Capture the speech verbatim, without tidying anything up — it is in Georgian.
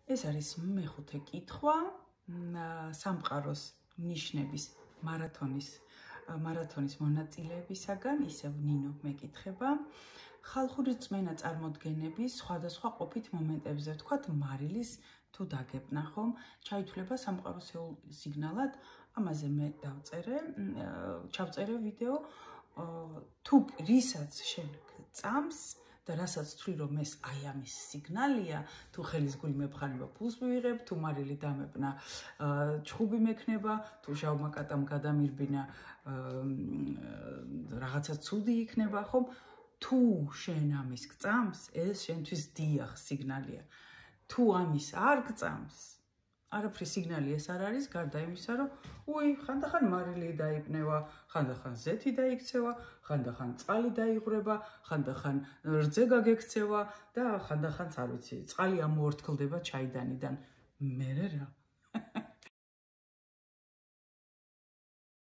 ეს არის მეხუთე კითხვა სამყაროს ნიშნების მარათონის მარათონის მონაწილეებისაგან, ისევ ნინო მეკითხება. ხალხური რწმენა წარმოდგენების სხვადასხვა ყოფით მომენტებზე, ვთქვათ, მარილის თუ დაგებნა, ხომ? ჩაითვლება სამყაროსეულ სიგნალად, ამაზე მე დავწერე, ჩავწერე ვიდეო, თუ რისაც შენ წამს და რასაც თქვი რომ ეს აი ამის სიგნალია, თუ ხელის გული მეფხანება ფულს მივიღებ, თუ მარილი დამებნა ჩხუბი მექნება, თუ ჟავმა კატამ გადამირბინა რაღაცა ცუდი იქნება, ხომ? თუ შენ ამის გწამს, ეს შენთვის დიახ სიგნალია. თუ ამის არ გწამს, არაფრის სიგნალი ეს არ არის, გარდა იმისა, რომ უი, ხანდახან მარილი დაიპნევა, ხანდახან ზეთი დაიქცევა, ხანდახან წყალი დაიღვრება, ხანდახან რძე გაგექცევა და ხანდახანც არ ვიცი, წყალი ამოორთქლდება ჩაიდანიდან. მერე რა?